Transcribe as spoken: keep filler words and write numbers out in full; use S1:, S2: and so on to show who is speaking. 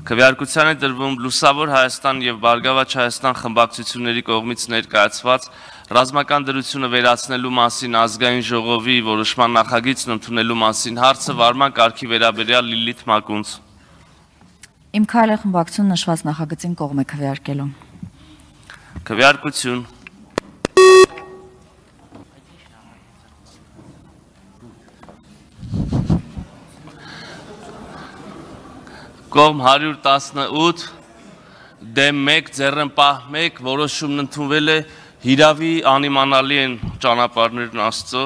S1: Քվեարկության է դրվում Լուսավոր Հայաստան և Բարգավաճ Հայաստան խմբակցությունների կողմից ներկայացված ռազմական դրությունը վերացնելու մասին ազգային ժողովի որոշման նախագիծն ընդունելու մասին հարցը վարման կարգի վերաբերյալ Լիլիթ Մակունց։
S2: Իմ քայլը խմբակցություն նշված նախագծին կողմ է քվեարկելու։
S1: Քվեարկություն։ Կողմ հարյուր տասնութ, դեմ մեկ, ձեռնպահ մեկ, որոշումն ընդունվել է, հիրավի անիմանալի են ճանապարհներն Աստծո։